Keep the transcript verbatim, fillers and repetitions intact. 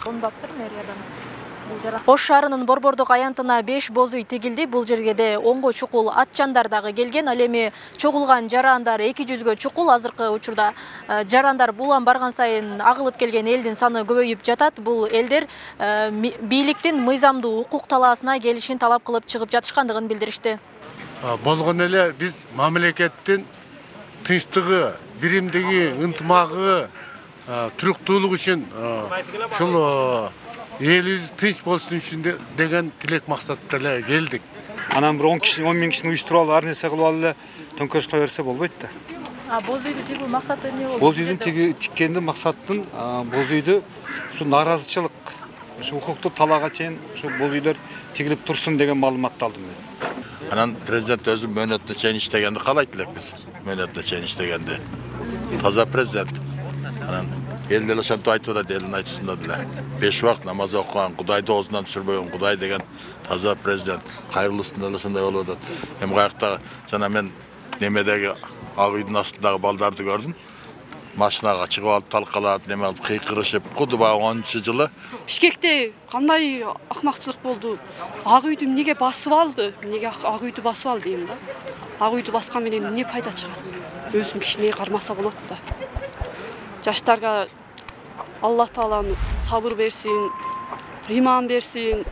Алынбаптыр мэриядан. Ош шаарынын Борбордук аянтына беш боз үй тигилди. Бул жерге онго чукул атчандар дагы келген. Ал эми чогулган жарандар эки жүзгө чукул. Азыркы учурда жарандар булан барган сайын агылып келген элдин саны көбөйүп жатат. Бул элдер бийликтин мыйзамдуу укук талаасына келишин талап кылып чыгып жатышкандыгын билдиришти. Болгон эле биз мамлекеттин тынчтыгы, биримдиги, ынтымагы, туруктуулугу үчүн ушул элибиз тынч болсун үчүн деген тилек максатта эле келдик. Анан бир он киши, он миң кишини уюштуруп алып, ар нерсе кылып алып эле төңкөрүш кыла берсе болбойт да. А боз үйдү тигүү максаты эмне болду? Боз үйдүн тиккендин максатын боз үйдү ушу нааразычылык, ушу укуктук талаага чейин ушу боз үйлөр тигилип турсун деген маалыматты алдым мен. Анан президент өзү мөөнөтүнө чейин иштегенди каалайт элек биз. Мөөнөтүнө чейин иштегенди. Таза президент. Анан эл деле ошентип айтып атат, элдин айтышында деле. Беш убакыт намаз окуган, Кудайды оозунан түшүрбөгөн Кудай деген таза президент. Кайрылуусунда деле ошондой болуп атат. Эми каякта жана мен немедеги ак үйдүн астындагы балдарды көрдүм. Машинага чыгып алып талкалап, неме кылып кыйкырышып, куду баягы онунчу жылы. Бишкекте кандай акмакчылык болду? Ак үйдү эмнеге басып алды? Эмнеге ак үйдү басып алды дейм да. Ак үйдү баскан менен эмне пайда чыгат? Өзүн кичине кармаса болот да. Жаштарга Алла Таалам сабыр берсин, ыйман берсин.